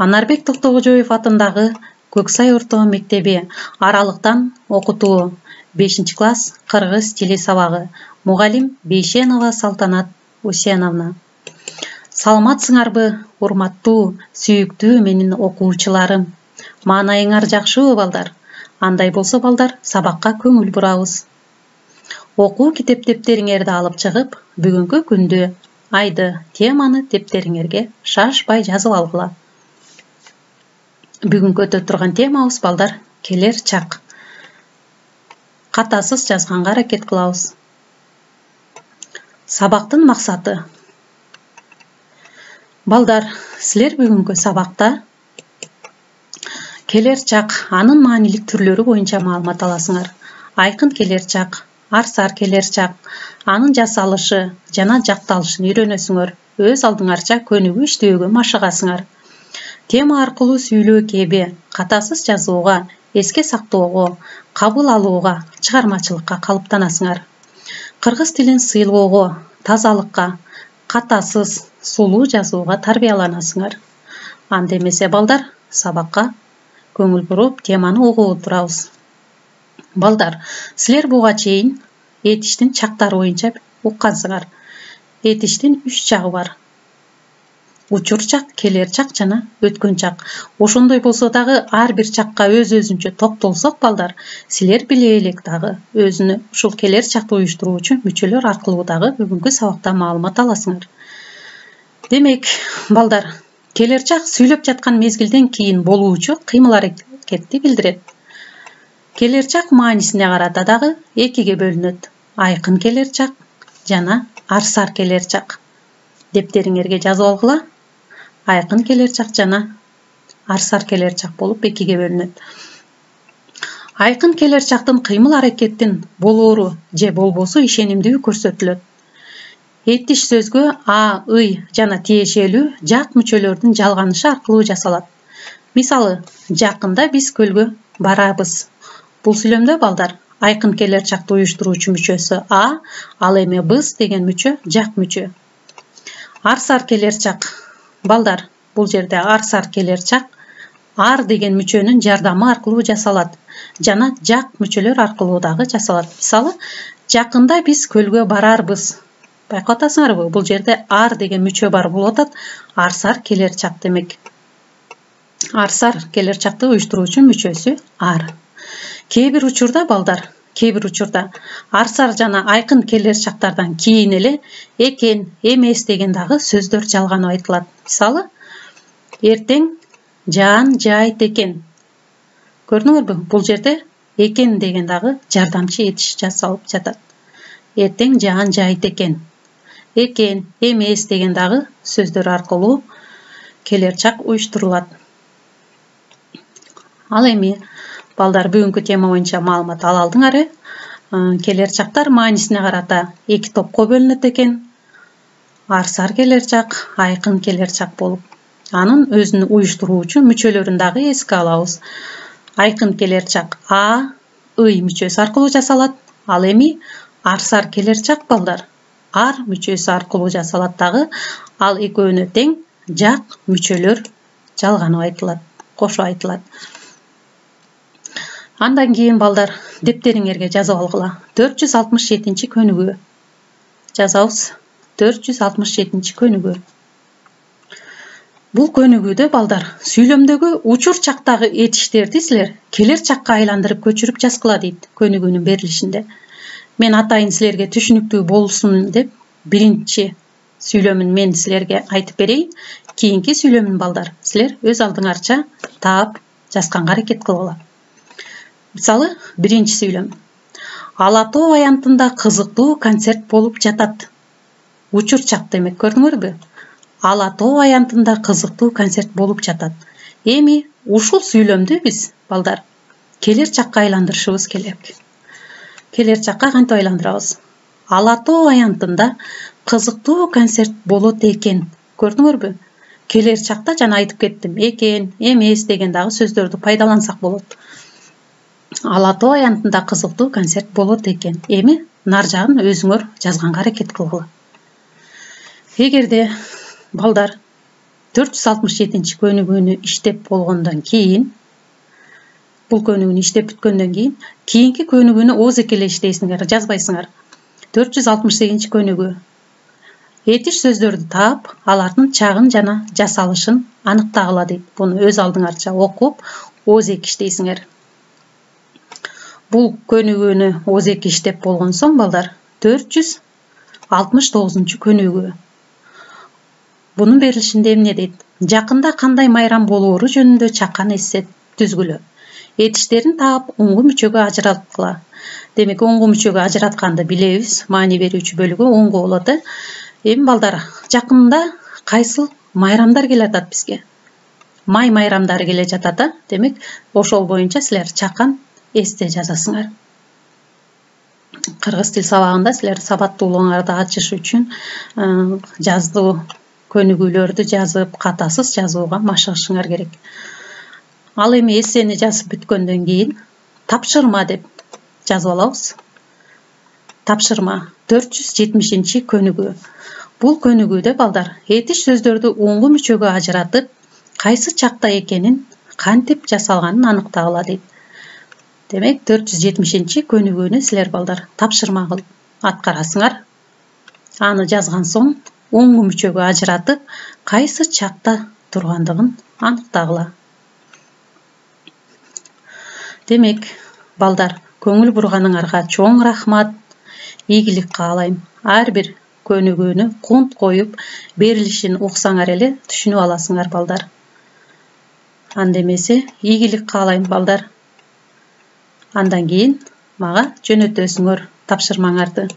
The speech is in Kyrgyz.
Анарбек Токтогожоев атындагы Көксай орто мектеби аралыктан окутуу 5-класс кыргыз тили сабагы. Мугалим Бейшенова Салтанат Усеновна. Саламатсыңарбы, урматтуу, сүйүктүү менин окуучуларым? Маанайыңар жакшыбы, балдар? Андай болсо, балдар, сабакка көңүл бурабыз. Окуу китептериңерди алып чыгып, бүгүнкү күндү, айды, теманы дептериңерге шашпай жазып алгыла. Бүгүнкү өтө турган темабыз, балдар, келер чак. Катасыз жазганга аракет кылабыз. Сабактын максаты. Балдар, силер бүгүнкү сабакта келер чак, анын маанилик түрлөрү боюнча маалымат аласыңар. Айкын келер чак, арсар келер чак, анын жасалышы жана жакталышын үйрөнөсүңөр. Өз алдыңарча көнүгүү иштөөгө машыгасыңар. Тема аркылуу сүйлөө кеби, катасыз жазууга, эске сактоого, кабыл алууга, чыгармачылыкка калыптанасыңар. Кыргыз тилин сыйлоого, тазалыкка, катасыз, сулуу жазууга тарбияланасыңар. Анда эмесе, балдар, сабакка көңүл буруп, теманы угуп отурабыз. Балдар, силер буга чейин этиштин чактары боюнча уккансыңар. Этиштин 3 чагы бар. Учур чак, келер чак жана өткөн чак. Ошондой болсо дагы ар бир чакка өз-өзүнчө токтолсок, балдар, силер биле элек дагы өзүнө ушул келер чакты уюштуруучу мүчөлөр аркылуу дагы бүгүнкү сабакта маалымат аласыңар. Демек, балдар, келер чак сүйлөп жаткан мезгилден кийин болуучу кыймыл аракетти билдирет. Келер чак маанисине карата дагы экиге бөлүнөт. Айкын келер чак жана арсар келер чак. Дептериңерге жазып алгыла. Айкын келер чак жана арсар келер чак болуп экиге бөлүнөт. Айкын келер чактын кыймыл аракеттин болоору же болбосу ишенимдүү көрсөтүлөт. Этиш сөзгө а, ый жана тиешелүү жак мүчөлөрдүн жалганышы аркылуу жасалат. Мисалы, жакында биз көлгө барабыз. Бул сүйлөмдө, балдар, айкын келер чакты уюштуруучу мүчөсү а, ал эми біз деген мүчө жак мүчө. Арсар келер чак. Балдар, бул жерде арсар келер чак ар деген мүчөнүн жардамы аркылуу жасалат жана жак мүчөлөр аркылуу дагы жасалат. Мисалы, жакында биз көлгө барарбыз. Байкап атасыңарбы? Бул жерде ар деген мүчө бар болуп атат. Арсар келер чак демек. Арсар келер чакты уюштуруучу мүчөсү ар. Кээ бир учурда, балдар, арсар жана айкын келер чактардан кийин эле экен, эмес деген дагы сөздөр жалганып айтылат. Мисалы, эртең жаан жайт экен. Көрдүңөрбү? Бул жерде экен деген дагы жардамчы этиш жасалып жатат. Эртең жаан жайт экен. Экен, эмес деген дагы сөздөр аркылуу келер чак уюштурулат. Ал эми, балдар, бүгүнкү тема боюнча маалымат ала алдыңар. Келер чактар маанисине карата 2 топко бөлүнөт экен. Арсар келер чак, айкын келер чак болуп. Анын өзүн уюштуруучу мүчөлөрүн дагы эске алабыз. Айкын келер чак а, ый мүчөсү аркылуу жасалат. Ал эми арсар келер чак, балдар, ар мүчөсү аркылуу жасалат дагы. Ал экөөнө тең жак мүчөлөр жалганып айтылат, кошо айтылат. Андан кийин, балдар, дептериңерге жазып алгыла. 467 көнүгүү. Жазабыз. 467 көнүгүү. Бул көнүгүүдө, балдар, сүйлөмдөгү учур чактагы этиштерди силер келер чакка айландырып көчүрүп жазгыла дейт көнүгүүнүн берилишинде. Мен атайын силерге түшүнүктүү болсун деп биринчи сүйлөмүн мен силерге айтып берейин. Кийинки сүйлөмүн, балдар, силер өз алдыңарча таап жазганга аракет кылгыла. Мисалы, биринчи сүйлөм. Ала тоо аянтында кызыктуу концерт болуп жатат. Учур чак демек, көрдүңөрбү? Ала тоо аянтында кызыктуу концерт болуп жатат. Эми ушул сүйлөмдү биз, балдар, келер чакка айландырышыбыз керек. Келер чакка кантип айландырабыз? Ала тоо аянтында кызыктуу концерт болот экен. Көрдүңөрбү? Келер чакта жана айтып кеттим. Экен, эмес деген дагы сөздөрдү пайдалансак болот. Ала тоо аянтында кызыктуу концерт болот экен. Эми нар жагын өзүңөр жазганга аракет кылгыла. Эгерде, балдар, 467 көнүгүүнү иштеп болгондон кийин, бул көнүгүүнү иштеп бүткөндөн кийин, кийинки көнүгүүнү оозеки эле иштейсиңер, жазбайсыңар. 468 көнүгүү. Этиш сөздөрдү таап, алардын чагын жана жасалышын аныктагыла дейт. Буну өз алдыңарча окуп, оозеки иштейсиңер. Бул көнүгүүнү оозеки иштеп болгон соң, балдар, 469 көнүгүү. Бунун берилишинде эмне дейт? Жакында кандай майрам болоору жөнүндө чакан эсеп түзгүлө. Этиштерин таап, оңгу мүчөгө ажыраткыла. Демек, оңгу мүчөгө ажыратканды билебиз. Маани берүүчү бөлүгү оңгу болот. Эми балдар, жакында кайсыл майрамдар келе жатат бизге? Май майрамдары келе жатат. Демек, ошол боюнча силер чакан эсте жазасыңар. Кыргыз тил сабагында силер сабаттуулугуңарды ачыш үчүн жаздуу көнүгүүлөрдү жазып, катасыз жазууга машыгышыңар керек. Ал эми эссени жазып бүткөндөн кийин тапшырма деп жазып алабыз. Тапшырма 470 көнүгүү. Бул көнүгүүдө, балдар, этиш сөздөрдү оңгу мүчөгө ажыратып, кайсы чакта экенин, кантип жасалганын аныктагыла дейт. Демек, 470 көнүгүүнү силер, балдар, тапшырма кылып аткарасыңар. Аны жазган соң, оңгу мүчөгө ажыратып, кайсы чакта тургандыгын аныктагыла. Демек, балдар, көңүл бурганыңарга чоң рахмат. Ийгилик каалайм. Ар бир көнүгүүнү кунт коюп, берилишин уксаңар эле түшүнүп аласыңар, балдар. Анда эмесе, ийгилик каалайм, балдар. Андан кийин мага жөнөтөсүңөр тапшырмаңарды.